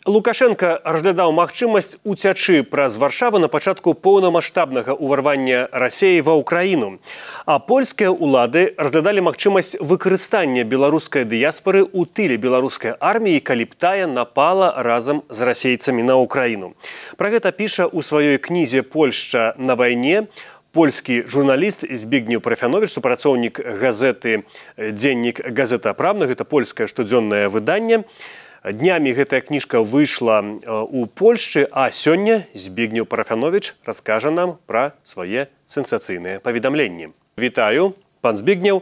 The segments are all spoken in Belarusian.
Лукашенко разглядаў магчымасць уцячы праз Варшаву на пачатку поўнамаштабнага ўварвання Расіі ва ўкраіну. А польскія ўлады разглядалі магчымасць выкарыстання беларускай дыяспары ў тыле беларускай арміі, калі б тая напала разам з расейцамі на ўкраіну. Пра гэта піша ў сваёй кнізе «Польшча на вайне» польскі журналіст Збігнеў Парафяновіч, супрацоўнік газеты «Дзеннік Газета Правна», гэта польскае штодзённае выданне. Днямі гэтая кніжка выйшла ў Польшчы, а сёння Збігнеў Парафяновіч раскажа нам пра свае сенсацыйныя паведамленні. Вітаю, пан Збігнеў.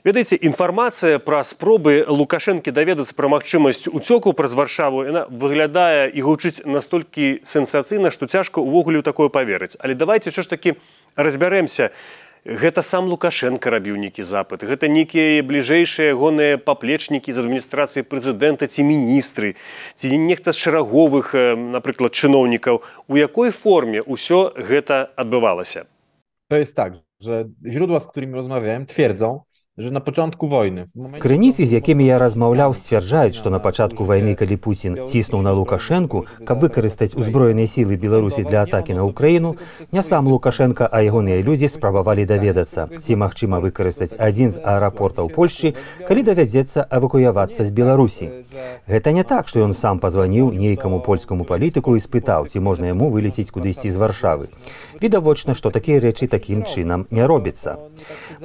Ведаеце, інфармацыя пра спробы Лукашэнкі даведацца пра магчымасць уцёку праз Варшаву, яна выглядае і гучыць настолькі сенсацыйна, што цяжка ўвогуле ў такое паверыць. Але давайце ўсё ж такі разбярэмся. Гэта сам Лукашенко рабіў нейкі запыт. Гэта нейкія бліжэйшыя ягоныя паплечнікі з адміністрацыі прэзідэнта ці міністры, ці нехта з шараговых, напрыклад, чыноўнікаў. У якой форме ўсё гэта адбывалася? To jest tak, że źródła, z którymi rozmawiałem, twierdzą, że na początku wojny... Крыніцы, з якімі я размаўляў, сцвярджаюць, што на пачатку вайны, калі Пуцін ціснуў на Лукашэнку, каб выкарыстаць узброеныя сілы Беларусі для атакі на Ўкраіну, не сам Лукашенко, а ягоныя людзі спрабавалі даведацца, ці магчыма выкарыстаць адзін з аэрапортаў Польшчы, калі давядзецца эвакуявацца з Беларусі. Гэта не так, што ён сам пазваніў нейкаму польскаму палітыку і спытаў, ці можна яму вылецець кудысьці з Варшавы. Відавочна, што такія рэчы такім чынам не робіцца.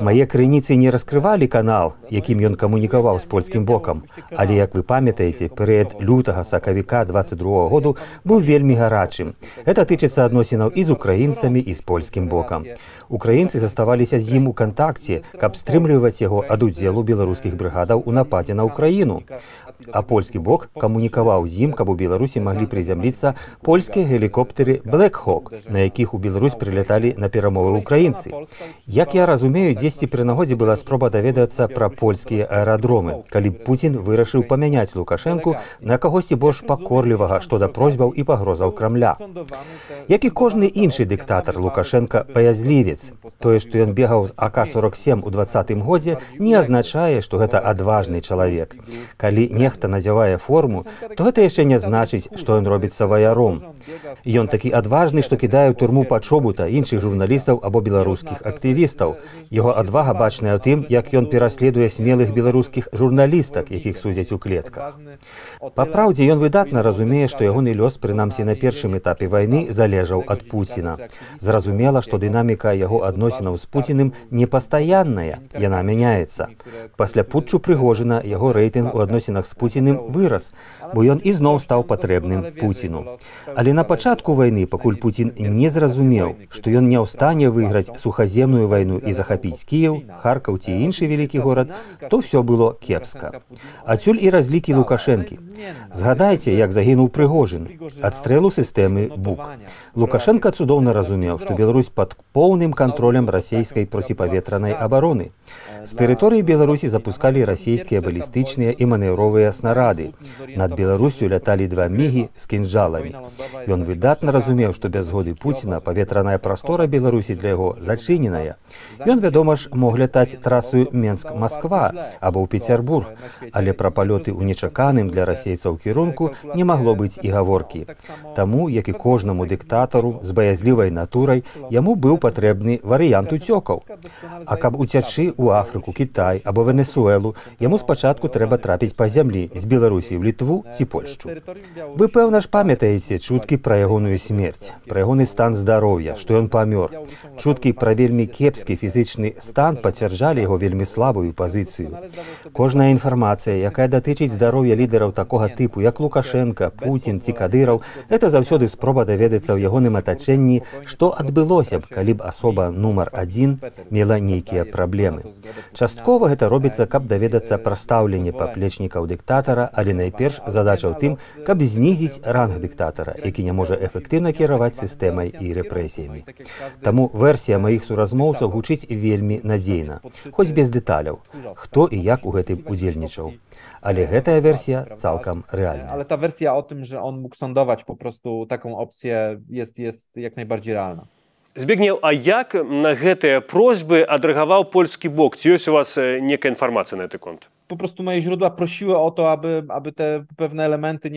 Мае крыніцы не раскрывалі канал, якім ён камунікаваў з польскім бокам. Але, як вы памятаеце, перыяд лютага-сакавіка 22 году быў вельмі гарачым. Гэта тычыцца адносінаў і з украінцамі, і з польскім бокам. Украінцы заставаліся з ім у кантакце, каб стрымліваць яго ад удзелу беларускіх брыгадаў у нападзе на Ўкраіну. А польскі бок камунікаваў з ім, каб у Беларусі маглі прызямліцца польскія гелікоптэры Black Hawk, на якіх у Беларусь прыляталі на перамовы ўкраінцы. Як я разумею, дзесьці пры нагодзе была спроба даведацца пра польскія аэрадромы, калі Пуцін вырашыў памяняць Лукашэнку на кагосьці больш пакорлівага што да просьбаў і пагрозаў Крамля. Як і кожны іншы дыктатар, Лукашенко баязлівец. Тое, што ён бегаў з АК-47 у 20-м годзе, не азначае, што гэта адважны чалавек. Калі нехта надзявае форму, то гэта яшчэ не значыць, што ён робіцца ваяром. Ён такі адважны, што кідае ў турму Пачобута, іншых журналістаў або беларускіх актывістаў. Яго адвага бачная ў тым, як ён пераследуе смелых беларускіх журналістак, якіх судзяць у клетках. Па праўдзе, ён выдатна разумее, што ягоны лёс, прынамсі на першым этапе вайны, залежаў ад Пуціна. Зразумела, што дынаміка яго адносінаў з Пуціным непастаянная, яна мяняецца. Пасля путчу Прыгожына яго рэйтынг у адносінах з Пуціным вырас, бо ён ізноў стаў патрэбным Пуціну. Але на пачатку вайны, пакуль Пуцін не зразумеў, што ён не ў стане выйграць сухаземную вайну і захапіць Кіеў, Харкаў ці іншы вялікі горад, то ўсё было кепска. Адсюль і разлікі Лукашэнкі. Згадайце, як загінуў Прыгожын ад стрэлу сістэмы БУК. Лукашенко цудоўна разумеў, што Беларусь пад поўным кантролем расійскай проціпаветранай абароны. З тэрыторыі Беларусі запускалі расійскія балістычныя і манеўровыя снарады. Над Беларусю ляталі 2 мігі з кінжаламі. Ён выдатна разумеў, што без згоды Пуціна паветраная прастора Беларусі для яго зачыненая. Ён, вядома ж, мог лятаць трасою Менск-Масква або ў Пецярбург, але пра палёты ў нечаканым для расейцаў кірунку не магло быць і гаворкі. Таму, як і кожнаму дыктатару з баязлівай натурай, яму быў патрэбны варыянт уцёкаў. А каб уцячы ў Афрыку, Кітай або Венесуэлу, яму спачатку трэба трапіць па зямлі з Беларусі ў Літву ці Польшчу. Вы, пэўна ж, памятаеце чуткі пра ягоную смерць, пра ягоны стан здароўя, што ён памёр. Чуткі пра вельмі кепскі фізічны стан пацвярджалі яго вельмі слабую пазіцыю. Кожная інфармацыя, якая датычыць здароўя лідараў такога тыпу, як Лукашенко, Пуцін ці Кадыраў, гэта заўсёды спроба даведацца ў ягоным атачэнні, што адбылося б, калі б асоба нумар 1 мела нейкія праблемы. Часткова гэта робіцца, каб даведацца пра стаўленне паплечнікаў дыктатара, але найперш задача ў тым, каб знізіць ранг дыктатара, які не можа эфектыўна кіраваць сістэмай і рэпрэсіямі. Таму версія маіх суразмоўцаў гучыць вельмі надзейна, хоць без дэталяў, хто і як у гэтым удзельнічаў. Ale гэтая версія цалкам рэальная. Ale ta wersja o tym, że on mógł sądować po prostu taką opcję jest jak najbardziej realna. Збігнеў, а як на гэтыя просьбы адрэагаваў польскі бок? Ці ёсць у вас некая інфармацыя на гэты конт? po prostu moje źródła prosiły o to, aby te pewne elementy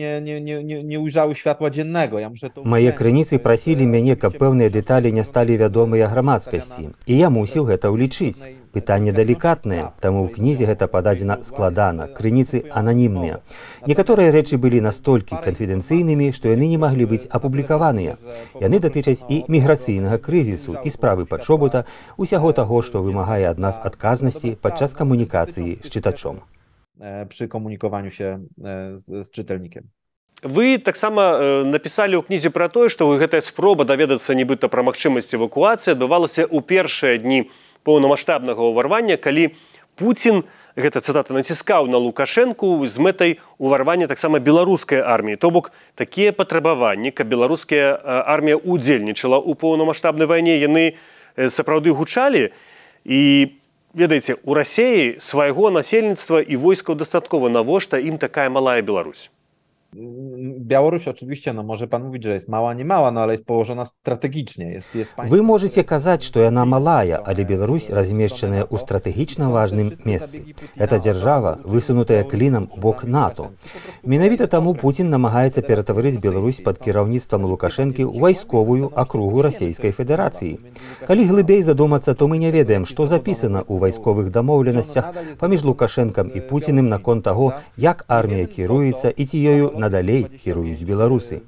nie ujrzały światła dziennego. Ja muszę to Мае крыніцы прасілі мяне, каб пэўныя дэталі не сталі вядомыя грамадскасці. І я мусіў гэта ўлічыць. Пытанне далікатнае, таму ў кнізе гэта пададзена складана, крыніцы ананімныя. Некаторыя рэчы былі настолькі канфідэнцыйнымі, што яны не маглі быць апублікаваныя. Яны датычаць і міграцыйнага крызісу, і справы падшобута, усяго таго, што вымагае ад нас адказнасці падчас камунікацыі з чытачом. Przy komunikowaniu się z czytelnikiem. Вы таксама напісалі ў кнізе пра тое, што гэтая спроба даведацца нібыта пра магчымасць эвакуацыі адбывалася ў першыя дні паўнамаштабнага ўварвання, калі Пуцін, гэта цытата, націскаў на Лукашэнку з мэтай уварвання таксама беларускай арміі. То бок, такія патрабаванні, каб беларуская армія удзельнічала ў паўнамаштабнай вайне, яны сапраўды гучалі. І, ведаеце, у Расіі свайго насельніцтва і войскаў дастаткова, навошта ім такая малая Беларусь? Białoruś oczywiście, no może pan mówić, że jest mała, nie mała, no ale jest położona strategicznie. Вы можете казаць, што яна малая, але Беларусь размешчаная ў стратэгічна важным месцы. Это дзяржава, высунутая клінам у бок НАТО. Менавіта таму Пуцін намагаецца ператварыць Беларусь пад кіраўніцтвам Лукашэнкі ў вайсковую акругу Расійскай Федэрацыі. Калі глыбей задумацца, то мы не ведаем, што запісана ў вайсковых дамоўленасцях паміж Лукашэнкам і Пуціным наконт таго, як армія кіруецца і ці ёю надалей кіруюць беларусы.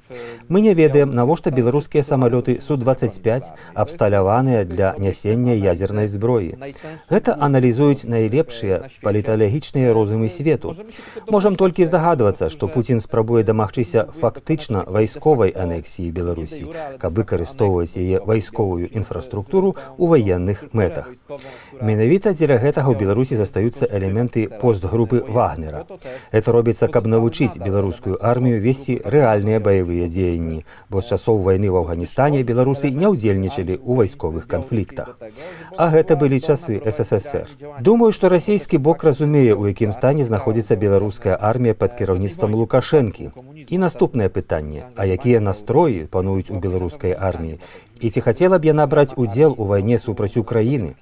Мы не ведаем, навошта беларускія самалёты Су-25 абсталяваныя для нясення ядзернай зброі. Гэта аналізуюць найлепшыя паліталагічныя розумы свету. Можам толькі здагадвацца, што Пуцін спрабуе дамагчыся фактычна вайсковай анексіі Беларусі, каб выкарыстоўваць яе вайсковую інфраструктуру ў ваенных мэтах. Менавіта дзеля гэтага ў Беларусі застаюцца элементы постгрупы Вагнера. Это робіцца, каб навучыць беларускую армію весці рэальныя баявыя дзеянні, бо з часоў вайны ў Афганістане беларусы не ўдзельнічалі ў вайсковых канфліктах. А гэта былі часы СССР. Думаю, што расійскі бок разумее, у якім стане знаходзіцца беларуская армія пад кіраўніцтвам Лукашэнкі. І наступнае пытанне, а якія настроі пануюць у беларускай арміі? І ці хацела б яна браць удзел у вайне супраць Украіны?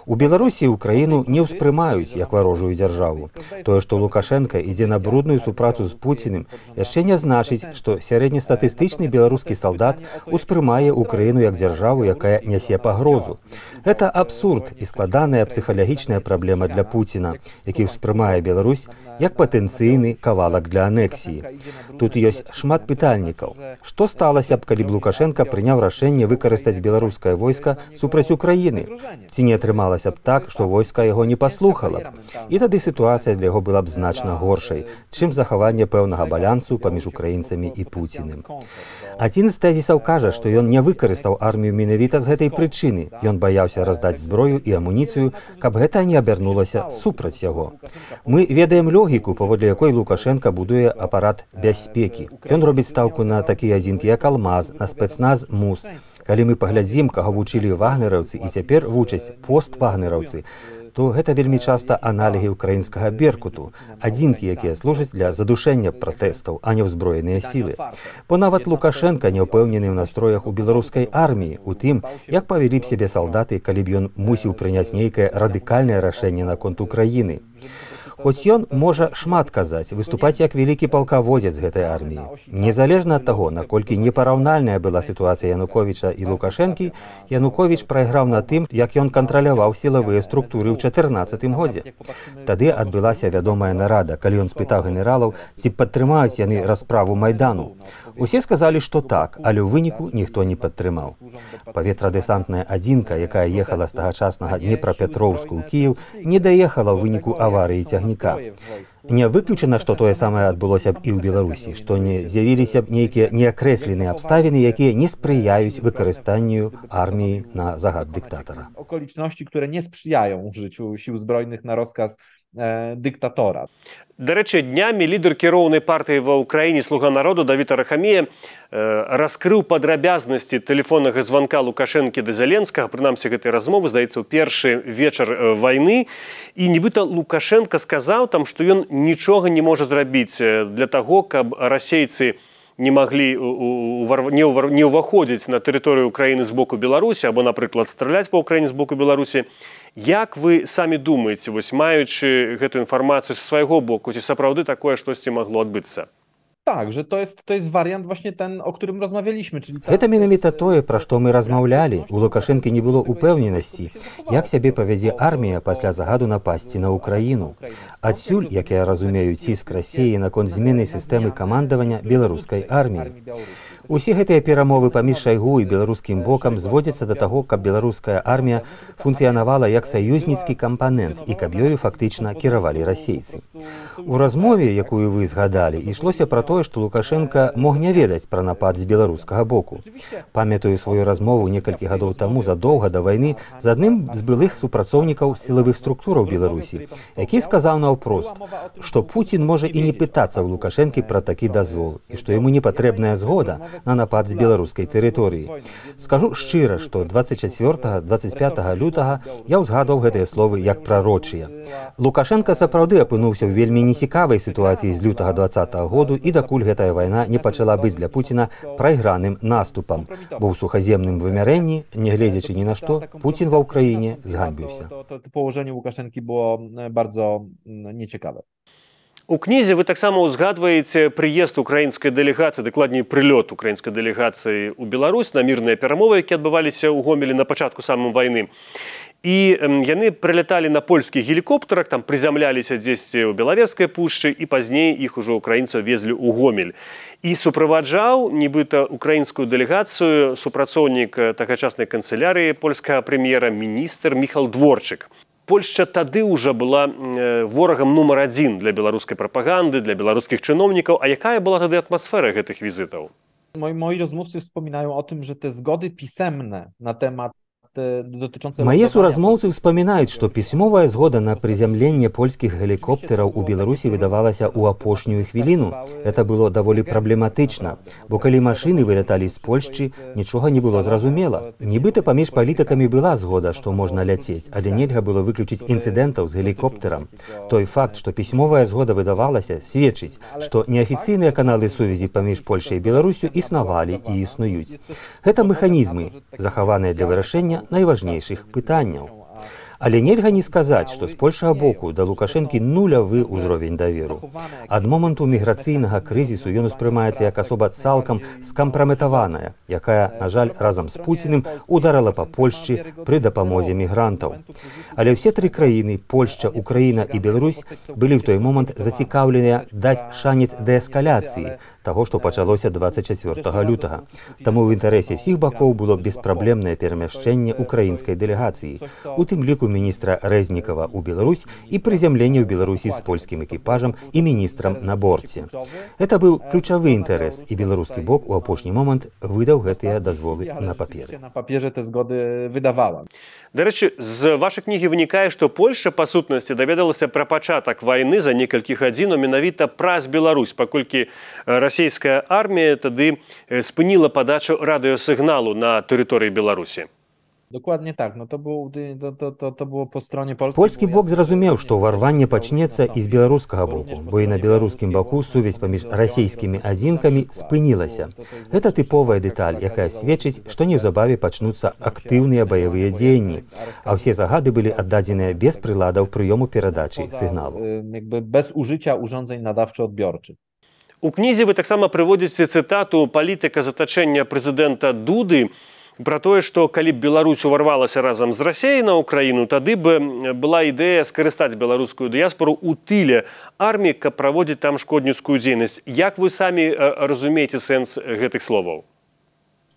У Беларусі Украіну не ўспрымаюць як варожую дзяржаву. Тое, што Лукашэнка ідзе на брудную супрацу з Пуціным, яшчэ не значыць, што сярэднестатыстычны беларускі салдат успрымае Украіну як дзяржаву, якая нясе пагрозу. Гэта абсурд і складаная псіхалагічная праблема для Пуціна, які ўспрымае Беларусь як патэнцыйны кавалак для анексіі. Тут ёсць шмат пытальнікаў. Што сталася б, калі б Лукашэнка прыняў рашэнне выкарыстаць беларускае войска супраць Украіны? Ці не атрымалася б так, што войска яго не паслухала б? І тады сітуацыя для яго была б значна горшай, чым захаванне пэўнага балансу паміж украінцамі і Пуціным. Адзін з тэзісаў кажа, што ён не выкарыстаў армію менавіта з гэтай прычыны. Ён баяўся раздаць зброю і амуніцыю, каб гэта не абярнулася супраць яго. Мы ведаем логіку, паводле якой Лукашэнка будуе апарат бяспекі. Ён робіць стаўку на такія адзінкі, як Алмаз, на спецназ МУС. Калі мы паглядзім, каго вучылі вагнераўцы і цяпер вучаць поствагнераўцы, то гэта вельмі часта аналігі ўкраінскага беркуту, адзінкі, якія служаць для задушэння пратэстаў, а не ўзброеныя сілы. Бо нават Лукашэнка не ўпэўнены ў настроях у беларускай арміі, у тым, як павялі б сябе салдаты, калі б ён мусіў прыняць нейкае радыкальнае рашэнне наконт Украіны. Хоць ён можа шмат казаць, выступаць як вялікі палкаводзец гэтай арміі. Незалежна ад таго, наколькі непараўнальная была сітуацыя Януковіча і Лукашэнкі, Януковіч прайграў на тым, як ён кантраляваў сілавыя структуры ў 2014 годзе. Тады адбылася вядомая нарада, калі ён спытаў генералаў, ці падтрымаюць яны расправу Майдану. Усе сказалі, што так, але ў выніку ніхто не падтрымаў. Паветрадэсантная адзінка, якая ехала з тагачаснага Днепрапетроўску ў Кіеў, не даехала ў выніку аварыі цягніка. Не выключана, што тое самае адбылося б і ў Беларусі, што не з'явіліся б нейкія неакрэсленыя абставіны, якія не спрыяюць выкарыстанню арміі на загад дыктатара. Okoliczności, które nie sprzyjają użyciu sił zbrojnych na rozkaz dyktatora. До речі, днямі лідер кіроўнай партыі ва ўкраіне «Слуга народу» Давід Арахамія раскрыў падрабязнасці тэлефоннага званка Лукашэнкі да Зеленскага, прынамсі гэтай размовы, здаецца, ў першы вечар вайны, і нібыта Лукашэнка сказаў там, што ён нічога не можа зрабіць для таго, каб расейцы не маглі не ўваходзіць на тэрыторыю Украіны з боку Беларусі або, напрыклад, страляць па Украіне з боку Беларусі. Як вы самі думаеце, вось маючы гэтую інфармацыю са свайго боку, ці сапраўды такое штосьці магло адбыцца? Tak, że to jest wariant właśnie ten, o którym rozmawialiśmy, czyli Гэта менавіта тое, пра што мы размаўлялі. У Лукашэнкі не было упэўненасці, як сябе павядзе армія пасля загаду напасці на Украіну. Адсюль, як я разумею, ціск Расіі наконт змены сістэмы камандавання беларускай арміі. Усе гэтыя перамовы паміж Шайгу і беларускім бокам зводзяцца да таго, каб беларуская армія функцыянавала як саюзніцкі кампанент і каб ёю фактычна кіравалі расейцы. У размове, якую вы згадалі, ішлося пра тое, што Лукашенка мог не ведаць пра напад з беларускага боку. Памятаю сваю размову некалькі гадоў таму задоўга да вайны з адным з былых супрацоўнікаў сілавых структураў Беларусі, які сказаў наўпрост, што Пуцін можа і не пытацца ў Лукашэнкі пра такі дазвол, і што яму не патрэбная згода на напад з беларускай тэрыторыі. Скажу шчыра, што 24-25 лютага я ўзгадаў гэтыя словы як прарочыя. Лукашенка сапраўды апынуўся ў вельмі нецікавай сітуацыі з лютага 20-го году і дакуль гэтая вайна не пачала быць для Пуціна прайграным наступам, бо ў сухаземным вымярэнні, нягледзячы ні на што, Пуцін ва ўкраіне зганьбіўся. Położenie Łukaszenki było bardzo nieciekawe. У кнізе вы таксама ўзгадваеце прыезд украінскай дэлегацыі, дакладней прылёт украінскай дэлегацыі ў Беларусь на мірныя перамовы, якія адбываліся ў Гомелі на пачатку самай вайны. І яны прыляталі на польскіх гелікоптарах, там прызямляліся дзесьці ў Белаверскай пушчы, і пазней іх ужо украінцаў везлі ў Гомель. І суправаджаў, нібыта, украінскую дэлегацыю супрацоўнік тагачаснай канцылярыі польскага прэм'ера, міністр Міхал Дворчык. Польшча тады ўжо была ворагам нумар адзін для беларускай прапаганды, для беларускіх чыноўнікаў. А якая была тады атмасфера гэтых візітаў? Moi rozmówcy wspominają o tym, że te zgody pisemne na temat Мае суразмоўцы ўспамінаюць, што пісьмовая згода на прызямленне польскіх гелікоптэраў у Беларусі выдавалася ў апошнюю хвіліну. Это было даволі праблематычна, бо калі машыны выляталі з Польшчы, нічога не было зразумела. Нібыта паміж палітыкамі была згода, што можна ляцець, але нельга было выключыць інцыдэнтаў з гелікоптэрам. Той факт, што пісьмовая згода выдавалася, сведчыць, што неафіцыйныя каналы сувязі паміж Польшай і Беларусю існавалі і існуюць. Гэта механізмы, захаваныя для вырашэння найважнейшых пытанняў. Але нельга не сказаць, што з польскага боку да Лукашэнкі нулявы ўзровень даверу. Ад моманту міграцыйнага крызісу ён успрымаецца як асоба цалкам скампраметаваная, якая, на жаль, разам з Пуціным ударыла па Польшчы пры дапамозе мігрантаў. Але ўсе тры краіны, Польшча, Украіна і Беларусь, былі ў той момант зацікаўленыя даць шанец дээскаляцыі таго, што пачалося 24 лютага. Таму ў інтарэсе ўсіх бакоў было беспраблемнае перамяшчэнне украінскай дэлегацыі, у тым ліку міністра Рэзнікава ў Беларусь і прызямленне ў Беларусі з польскім экіпажам і міністрам на борце. Гэта быў ключавы інтарэс, і беларускі бок у апошні момант выдаў гэтыя дазволы на паперы. На паперзе те згоды выдавала. Дарэчы, з вашай кнігі вынікае, што Польшча, па сутнасці, даведалася пра пачатак вайны за некалькі гадзінаў менавіта праз Беларусь, паколькі расійская армія тады спыніла падачу радыёсігналу на тэрыторыі Беларусі. Dokładnie tak, no to było po stronie polskiej. Польскі бок зразумеў, што ўварванне пачнецца і з беларускага боку, бо і на беларускім баку сувязь паміж расійскімі адзінкамі спынілася. Гэта тыповая дэталь, якая сведчыць, што неўзабаве пачнуцца актыўныя баявыя дзеянні, а ўсе загады былі аддадзеныя без прыладаў прыёму перадачы сігналу. Без ужыцця урządzeń nadawczo-odbiorczych. У кнізе вы таксама прыводзіце цытату палітыка затачэння прэзідэнта Дуды пра тое, што калі б Беларусь уварвалася разам з Расіяй на Украіну, тады б была ідэя скарыстаць беларускую дыяспору ў тыле арміі, каб праводзіць там шкодніцкую дзейнасць. Як вы самі разумееце сэнс гэтых словаў?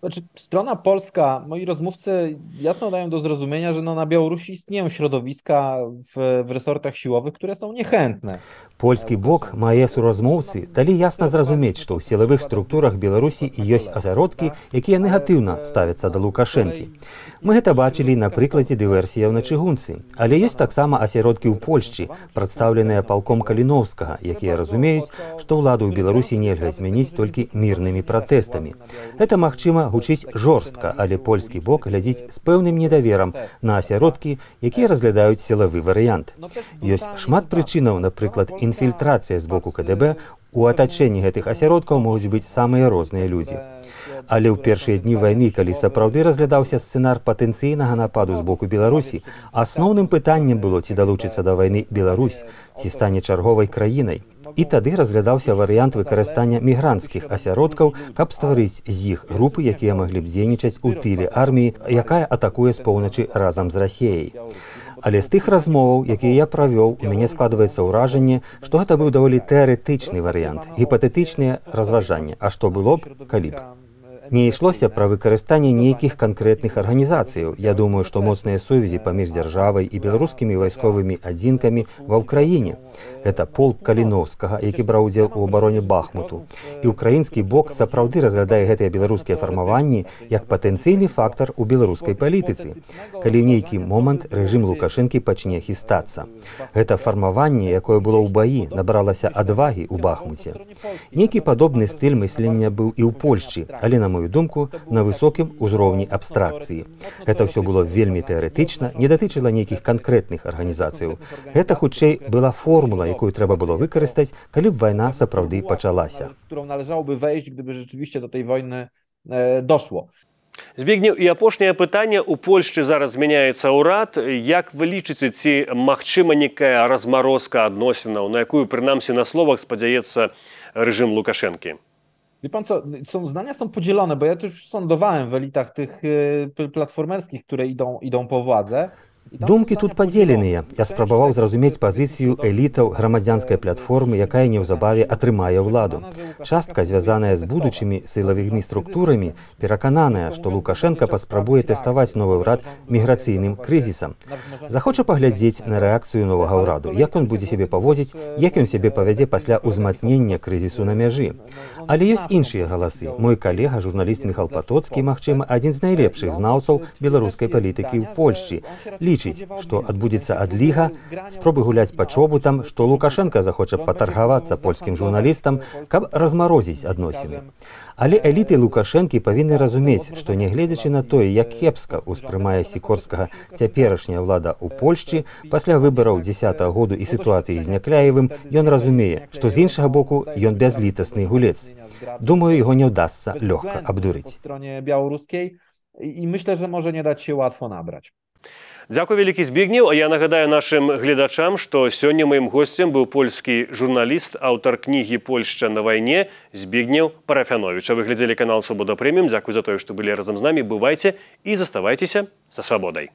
Znaczy, strona polska, moi rozmówcy jasno dają do zrozumienia, że na Białorusi istnieją środowiska w resortach siłowych, które są niechętne. Польскі бок, мае суразмоўцы, далі ясна зразумець, што ў сілавых структурах Беларусі ёсць асяродкі, якія негатыўна ставяцца да Лукашэнкі. Мы гэта бачылі на прыкладзе дыверсіяў на чыгунцы. Але ёсць таксама асяродкі ў Польшчы, прадстаўленыя палком Каліноўскага, якія разумеюць, што ўладу ў Беларусі нельга змяніць толькі мірнымі пратэстамі. Гэта, магчыма, гучыць жорстка, але польскі бок глядзіць з пэўным недаверам на асяродкі, якія разглядаюць сілавы варыянт. Ёсць шмат прычынаў, напрыклад, інфільтрацыя з боку КДБ У атачэнні гэтых асяродкаў могуць быць самыя розныя людзі. Але ў першыя дні вайны, калі сапраўды разглядаўся сцэнар патэнцыйнага нападу з боку Беларусі, асноўным пытаннем было, ці далучыцца да вайны Беларусь, ці стане чарговай краінай. І тады разглядаўся варыянт выкарыстання мігранцкіх асяродкаў, каб стварыць з іх групы, якія маглі б дзейнічаць у тыле арміі, якая атакуе з поўначы разам з Расіяй. Але з тых размоваў, якія я правёў, у мяне складваецца ўражанне, што гэта быў даволі тэарэтычны варыянт, гіпатэтычныя разважанні, а што было б, калі б. Не ішлося пра выкарыстанне нейкіх канкрэтных арганізацыяў. Я думаю, што моцныя сувязі паміж дзяржавай і беларускімі вайсковымі адзінкамі ва ўкраіне. Гэта полк Каліноўскага, які браў удзел у абароне Бахмуту. І ўкраінскі бок сапраўды разглядае гэтыя беларускія фармаванні як патэнцыйны фактар у беларускай палітыцы, калі ў нейкі момант рэжым Лукашэнкі пачне хістацца. Гэта фармаванне, якое было ў баі, набралася адвагі ў Бахмуце. Нейкі падобны стыль мыслення быў і ў Польшчы, але, на мою думку, на высокім узроўні абстракцыі. Гэта ўсё было вельмі тэарэтычна, не датычыла нейкіх канкрэтных арганізацыяў. Гэта, хутчэй, была формула, якую трэба было выкарыстаць, калі б вайна сапраўды пачалася. Збігнеў, і апошняе пытанне. У Польшчы зараз змяняецца ўрад. Як вы лічыце, ці магчыма некая размарозка адносінаў, на якую, прынамсі, на словах спадзяецца рэжым Лукашэнкі? Wie pan co, zdania są podzielone, bo ja też sądowałem w elitach tych platformerskich, które idą po władzę. Думкі тут падзеленыя. Я спрабаваў зразумець пазіцыю элітаў грамадзянскай платформы, якая неўзабаве атрымае ўладу. Частка, звязаная з будучымі сілавымі структурамі, перакананая, што Лукашенка паспрабуе тэставаць новы ўрад міграцыйным крызісам. Захоча паглядзець на рэакцыю новага ўраду, як ён будзе сябе паводзіць, як ён сябе павядзе пасля ўзмацнення крызісу на мяжы. Але ёсць іншыя галасы. Мой калега, журналіст Міхал Патоцкі, магчыма, адзін з найлепшых знаўцаў беларускай палітыкі ў Польшчы, лічыць, што адбудзецца адліга, спробы гуляць па чобутам, што Лукашенка захоча патаргавацца польскім журналістам, каб размарозіць адносіны. Але эліты Лукашэнкі павінны разумець, што нягледзячы на тое, як кепска ўспрымае Сікорскага цяперашняя ўлада ў Польшчы, пасля выбараў 10-го году і сітуацыі з Някляевым, ён разумее, што з іншага боку ён бязлітасны гулец. Думаю, яго не ўдасца лёгка абдурыць. І myślę, że może nie dać się łatwo nabrać. Дзякуй вялікі, Збігнеў. А я нагадаю нашым гледачам, што сёння маім госцем быў польскі журналіст, аўтар кнігі «Польшча на вайне» Збігнеў Парафяновіч. А вы глядзелі канал «Свабода Прэміум». Дзякуй за тое, што былі разам з намі. Бывайце і заставайцеся са свабодай.